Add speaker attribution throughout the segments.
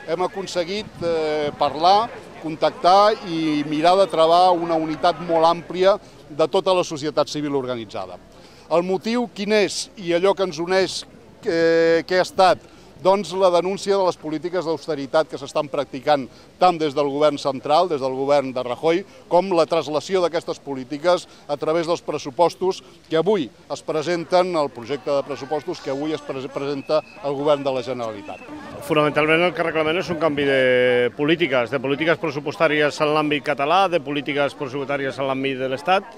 Speaker 1: hem aconseguit parlar, contactar i mirar de trobar una unitat molt àmplia de tota la societat civil organitzada. El motiu quin és i allò que ens uneix què ha estat? Doncs la denúncia de les polítiques d'austeritat que s'estan practicant tant des del govern central, des del govern de Rajoy, com la traslació d'aquestes polítiques a través dels pressupostos que avui es presenten, el projecte de pressupostos que avui es presenta al govern de la Generalitat.
Speaker 2: Fonamentalment el que reclamem és un canvi de polítiques pressupostàries en l'àmbit català, de polítiques pressupostàries en l'àmbit de l'Estat,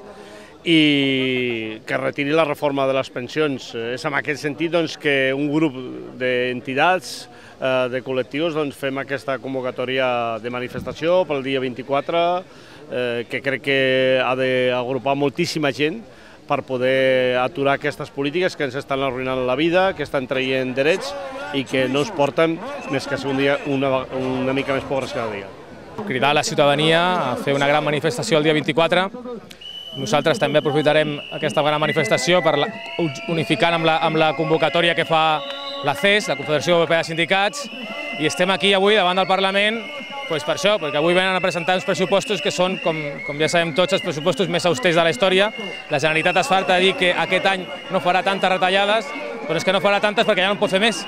Speaker 2: i que retiri la reforma de les pensions. És en aquest sentit que un grup d'entitats, de col·lectius, fem aquesta convocatòria de manifestació pel dia 24, que crec que ha d'agrupar moltíssima gent per poder aturar aquestes polítiques que ens estan arruïnant la vida, que estan traient drets i que no ens porten més que a ser un dia una mica més pobres cada dia.
Speaker 3: Cridar a la ciutadania a fer una gran manifestació el dia 24. Nosaltres també aprofitarem aquesta gran manifestació per unificar amb la convocatòria que fa la CES, la Confederació Europea de Sindicats, i estem aquí avui davant del Parlament per això, perquè avui venen a presentar uns pressupostos que són, com ja sabem tots, els pressupostos més austers de la història. La Generalitat es farta de dir que aquest any no farà tantes retallades, però és que no farà tantes perquè ja no en pot fer més.